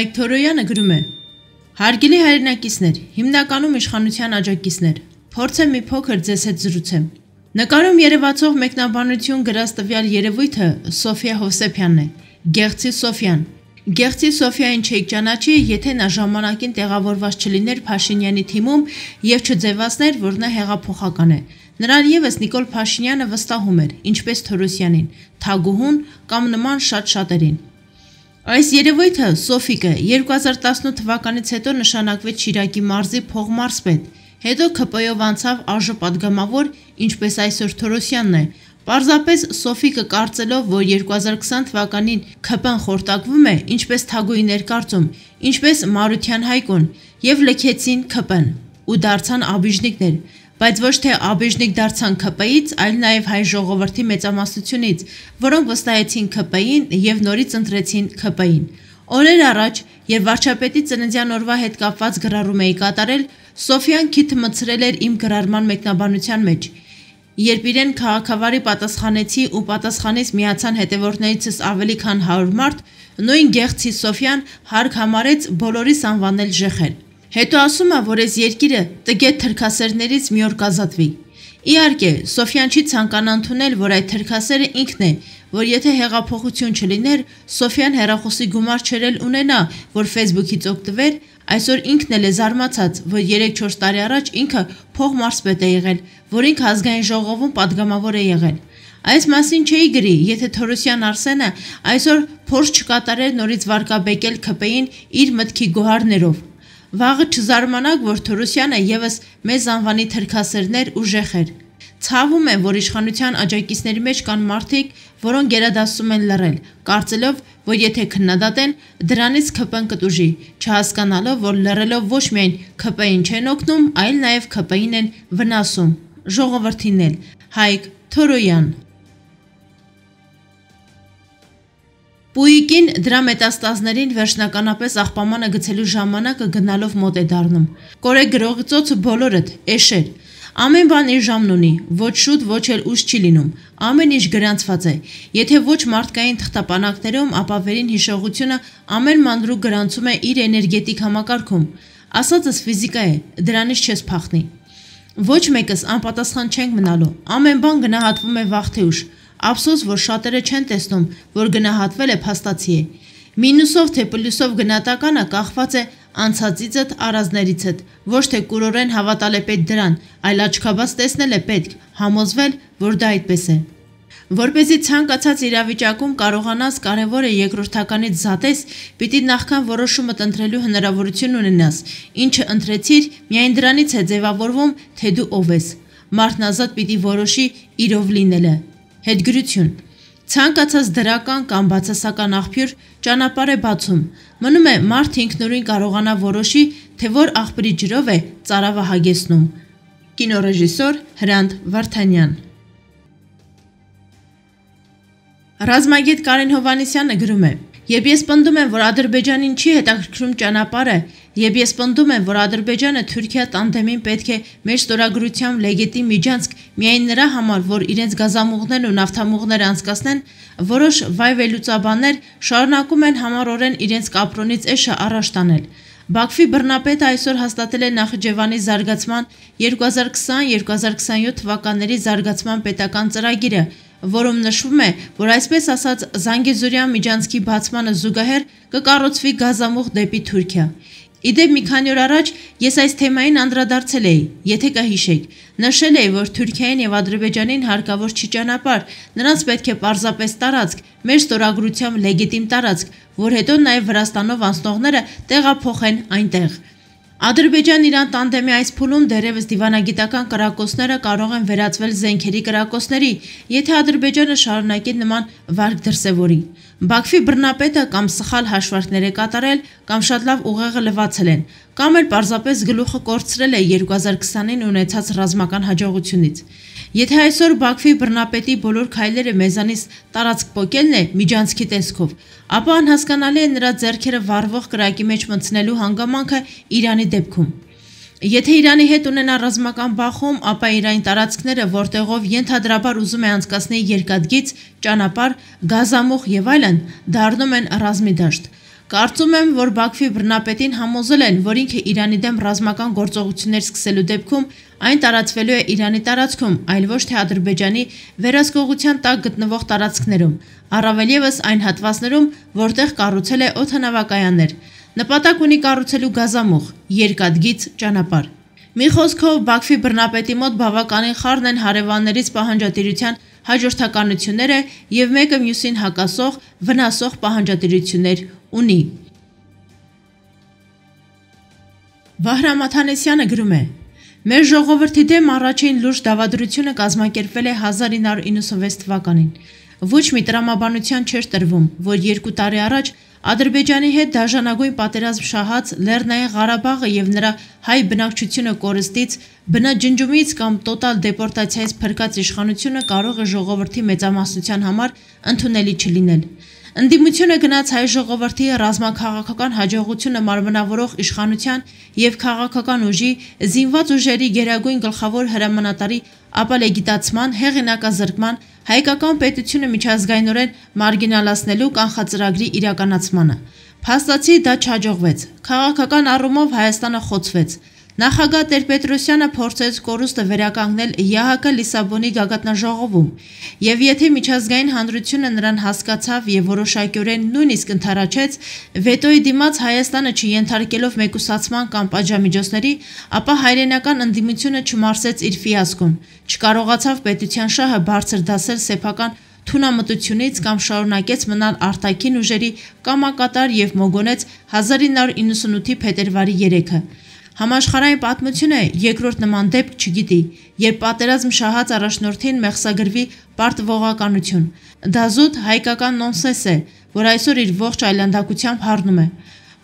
Հայկ Թորոյանը գրում է. Հարգելի հայրենակիցներ, հիմնականում իշխանության աջակիցներ, փորձեմ մի փոքր ձեզ հետ զրուցեմ։ Նկարում երևացող մեկնաբանություն գրած տվյալ երևույթը Սոֆիա Հովսեփյանն է, Գեղցի Սոֆյան։ Գեղցի Սոֆիային չեք ճանաչի, եթե նա ժամանակին տեղավորված չլիներ Փաշինյանի թիմում եւ չձևացներ, որ նա հեղափոխական է։ Նրան եւս Նիկոլ Փաշինյանը վստահում էր, ինչպես Թորոսյանին, Թագուհուն կամ նման շատ-շատերին։ Այս երևույթը Սոֆիկը 2018 թվականից հետո նշանակվեց Շիրակի մարզի փողմարզպետ, հետո ՔՊ-ով անցավ ԱԺ падգամավոր, ինչպես այսօր Թորոսյանն է։ Պարզապես Սոֆիկը կարծելով, որ 2020 թվականին ՔՊ-ն խորտակվում է, ինչպես Թագուհի ներկարծում, ինչպես Մարության Հայկուն, եւ լքեցին ՔՊ-ն ու դարձան աբիժնիկներ, բայց ոչ թե աբիժնիկ դարձան ՔՊ-ից, այլ նաեւ հայ ժողովրդի մեծամասնությունից, որոնք վստահեցին ՔՊ-ին եւ նորից ընտրեցին ՔՊ-ին։ Օրեր առաջ, երբ վարչապետի ծննդյան օրվա հետ կապված գրառում էի կատարել, Սոֆիան քիթ մցրել էր իմ գրառման մեկնաբանության մեջ։ Երբ իրեն քաղաքավարի պատասխանեցի ու պատասխանից միացան հետևորդներիցս ավելի քան 100 մարդ, նույն Գեղցի Սոֆյան հարկ համարեց բոլորիս անվանել ժեխեր։ Հետո ասում է, որ այս երկիրը տգետ թրքասերներից մի օր կազատվի։ Իհարկե, Սոֆյան չի ցանկանա ընդունել, որ այդ թրքասերը ինքն է, որ եթե հեղափոխություն չլիներ, Սոֆյան հեռախոսի գումար չերել ունենա, որ Facebook-ից օգտվեր, այսօր ինքն էլ է զարմացած, որ 3-4 տարի առաջ ինքը փողմարզպետ է եղել, որ ինքը ազգային ժողովում падգամավոր է եղել։ Այս մասին չէի գրի, եթե Թորոսյան Արսենը այսօր փորձ չկատարեր նորից վարկաբեկել ՔՊ-ին իր մտքի գոհարներով։ Վաղը չզարմանաք, որ Թորոսյանը եւս մեզ անվանի թրքասերներ ու ժեխեր։ Ցավում եմ, որ իշխանության աջակիցների մեջ կան մարդիկ, որոնք գերադասում են լռել, կարծելով, որ եթե քննադատեն, դրանից ՔՊ-ն կտուժի, չհասկանալով, որ լռելով ոչ միայն ՔՊ-ին չեն օգնում, այլ նաեւ ՔՊ-ին են վնասում։ Ժողովրդին էլ։ Հայկ Թորոյան։ Պույիկին դրա մետաստազներին վերջնականապես աղբամանը գցելու ժամանակը գնալով մոտ է դառնում։ Կորե գրողի ծոցը բոլորդ, էշեր։ Ամեն բան իր ժամն ունի, ոչ շուտ, ոչ էլ ուշ չի լինում։ Ամեն ինչ գրանցված է։ Եթե ոչ մարդկային թղթապանակներում, ապա վերին հիշողությունը ամեն մանրուք գրանցում է իր էներգետիկ համակարգում։ Ասածս ֆիզիկա է, դրանից չես փախնի։ Ոչ մեկս անպատասխան չենք մնալու։ Ամեն բան գնահատվում է վաղ թե ուշ։ Ափսոս, որ շատերը չեն տեսնում, որ գնահատվել է փաստացի է։ Մինուսով թե պլյուսով գնահատականը կախված է անցածիցդ, առանձներիցդ, ոչ թե կուրորեն հավատալ է պետք դրան, այլ աչքաբաց տեսնել է պետք, համոզվել, որ դա այդպես է։ Որպեսզի ցանկացած իրավիճակում կարողանաս կարևորը երկրորդականից զատես, պիտի նախքան որոշումդ ընտրելու հնարավորություն ունենաս, ինչը ընտրեցիր, միայն դրանից է ձևավորվում, թե դու ով ես։ Մարդն ազատ պիտի որոշի իրով լինելը։ Հետգրություն։ Ցանկացած դրական կամ բացասական աղբյուր ճանապարհ է բացում։ Մնում է մարդ ինքնուրույն կարողանա որոշի, թե որ աղբրի ջրով է ծարավը հագեցնում։ Կինոռեժիսոր Հրանտ Վարդանյան։ Ռազմագետ Կարեն Հովհաննիսյանը գրում է. Երբ ես պնդում եմ, որ Ադրբեջանին չի հետաքրքրում ճանապարհը, երբ ես պնդում եմ, որ Ադրբեջանը Թուրքիա տանդեմին պետք է մեր ստորագրությամբ լեգիտիմ միջանցք միայն նրա համար, որ իրենց գազամուղներն ու նավթամուղները անցկացնեն, որոշ վայվելուծաբաններ շարունակում են համառորեն իրենց կապրոնից էշը առաջ տանել։ Բաքվի բռնապետը այսօր հաստատել է Նախիջևանի զարգացման 2020-2027 թվականների զարգացման պետական ծրագիրը, որում նշվում է, որ այսպես ասած Զանգեզուրյան միջանցքի բացմանը զուգահեռ կկառուցվի գազամուղ դեպի Թուրքիա։ Իդեպ մի քանի օր առաջ ես այս թեմային անդրադարձել էի, եթե կհիշեք, նշել էի, որ Թուրքիային եւ Ադրբեջանին հարկավոր չի ճանապարհ, նրանց պետք է պարզապես տարածք, մեր ստորագրությամբ լեգիտիմ տարածք, որ հետո նաեւ Վրաստանով անցնողները տեղափոխեն այնտեղ։ Ադրբեջան-Իրան տանդեմի այս փուլում դեռևս դիվանագիտական կրակոցները կարող են վերածվել զենքերի կրակոցների, եթե Ադրբեջանը շարունակի նման վարք դրսևորի։ Բաքվի բռնապետը կամ սխալ հաշվարկներ է կատարել, կամ շատ լավ ուղեղը լվացել են, կամ էլ պարզապես գլուխը կորցրել է 2020-ին ունեցած ռազմական հաջողությունից։ Եթե այսօր Բաքվի բռնապետի բոլոր քայլերը մեզանից տարածք պոկելն է միջանցքի տեսքով, ապա անհասկանալի է նրա ձեռքերը վառվող կրակի մեջ մտցնելու հանգամանքը Իրանի դեպքում։ Եթե Իրանի հետ ունենա ռազմական բախում, ապա Իրանի տարածքները, որտեղով ենթադրաբար ուզում է անցկացնել երկաթգիծ, ճանապարհ, գազամուղ եւ այլն, դառնում են ռազմի դաշտ։ Կարծում եմ, որ Բաքվի բռնապետին համոզել են, որ ինքը Իրանի դեմ ռազմական գործողություններ սկսելու դեպքում այն տարածվելու է Իրանի տարածքում, այլ ոչ թե Ադրբեջանի վերահսկողության տակ գտնվող տարածքներում, առավել ևս այն հատվածներում, որտեղ կառուցել է օդանավակայաններ, նպատակ ունի կառուցելու գազամուղ, երկաթգիծ ճանապարհ։ Մի խոսքով, Բաքվի բռնապետի մոտ բավականին խառն են հարևաններից պահանջատիրության հաջորդականությունները եւ մեկը մյուսին հակասող, վնասող պահանջատիրություններ ունի։ Վահրամ Աթանեսյանը գրում է. «Մեր ժողովրդի դեմ առաջին լուրջ դավադրությունը կազմակերպվել է 1996 թվականին։ Ոչ մի տրամաբանության չէր տրվում, որ 2 տարի առաջ Ադրբեջանի հետ դաժանագույն պատերազմ շահած Լեռնային Ղարաբաղը եւ նրա հայ բնակչությունը կորստից, բնաջնջումից կամ տոտալ դեպորտացիայից փրկած իշխանությունը կարող է ժողովրդի մեծամասնության համար ընդունելի չլինել։ Ընդդիմությունը գնաց հայ ժողովրդի ռազմաքաղաքական հաջողությունը մարմնավորող իշխանության եւ քաղաքական ուժի, զինված ուժերի գերագույն գլխավոր հրամանատարի ապալեգիտացման, հեղինակազրկման, հայկական պետությունը միջազգայնորեն մարգինալացնելու կանխածրագրի իրականացմանը։ Փաստացի դա չհաջողվեց։ Քաղաքական առումով Հայաստանը խոցվեց։ Նախագահ Տեր-Պետրոսյանը փորձեց կորուստը վերականգնել ԵԱՀԿ Լիսաբոնի գագաթնաժողովում, եւ եթե միջազգային հանրությունը նրան հասկացավ եւ որոշակիորեն նույնիսկ ընդառաջեց, վետոյի դիմաց Հայաստանը չենթարկելով մեկուսացման կամ պատժամիջոցների, ապա հայրենական ընդդիմությունը չմարսեց իր ֆիասկոն, չկարողացավ պետության շահը բարձր դասել սեփական թունամտությունից կամ շարունակեց մնալ արտաքին ուժերի կամակատար եւ մոգոնեց 1998-ի փետրվարի 3-ը։ Համաշխարհային պատմությունը երկրորդ նման դեպք չգիտի, երբ պատերազմ շահած առաջնորդին մեղսագրվի պարտվողականություն։ Դա զուտ հայկական նոնսենս է, որ այսօր իր ողջ այլանդակությամբ հառնում է։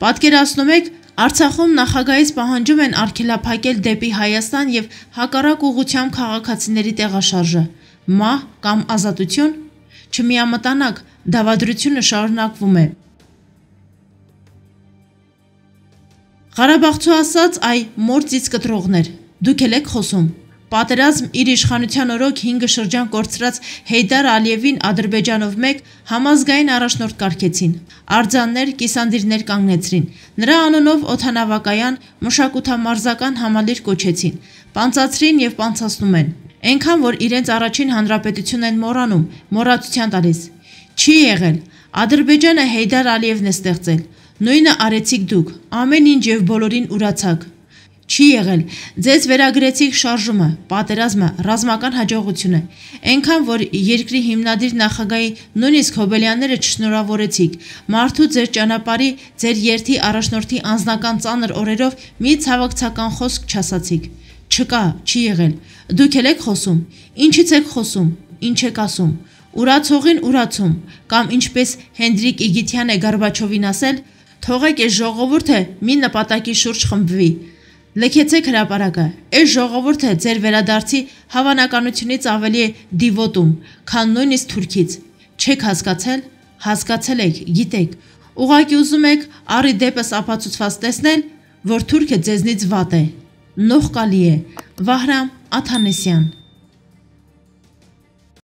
Պատկերացնում եք, Արցախում նախագահից պահանջում են արգելափակել դեպի Հայաստան եւ հակառակ ուղղությամբ քաղաքացիների տեղաշարժը։ Մահ կամ ազատություն։ Չմիամտանաք, դավադրությունը շարունակվում է։ Ղարաբաղցու ասած այ մործից կտրողներ, դուք էլ եք խոսում։ Պատերազմ իր իշխանության օրոք 5 շրջան կորցրած Հեյդար Ալիևին Ադրբեջանով մեկ համազգային առաջնորդ կարգեցին, արձաններ, կիսանդիրներ կանգնեցրին, նրա անունով օդանավակայան, մշակութամարզական համալիր կոչեցին, պանծացրին եւ պանծացնում են, այնքան որ իրենց առաջին հանրապետություն են մոռանում, մոռացության տալիս։ Չի եղել, Ադրբեջանը Հեյդար Ալիևն է ստեղծել, նույնը արեցիք դուք, ամեն ինչ եւ բոլորին ուրացաք։ Չի եղել, ձեզ վերագրեցիք շարժումը, պատերազմը, ռազմական հաջողությունը, այնքան որ երկրի հիմնադիր նախագահի նույնիսկ Հոբելյանները չշնորհավորեցիք, մարդու ձեր ճանապարհի, ձեր երթի առաջնորդի անձնական ծանր օրերով մի ցավակցական խոսք չասացիք։ Չկա, չի եղել։ Դուք էլ եք խոսում, ինչից եք խոսում, ինչ եք ասում։ Ուրացողին ուրացում, կամ ինչպես Հենդրիկ Իգիթյանը Գորբաչովին ասել, թողեք այս ժողովուրդը մի նպատակի շուրջ խմբվի։ Լքեցեք հրապարակը, այս ժողովուրդը ձեր վերադարձի հավանականությունից ավելի է դիվոտում, քան նույնիսկ Թուրքից։ Չեք հասկացել, հասկացել եք, գիտեք, ուղղակի ուզում եք առի դեպս ապացուցված տեսնել, որ Թուրքը ձեզնից վատ է։ Նողկալի է։ Վահրամ Աթանեսյան։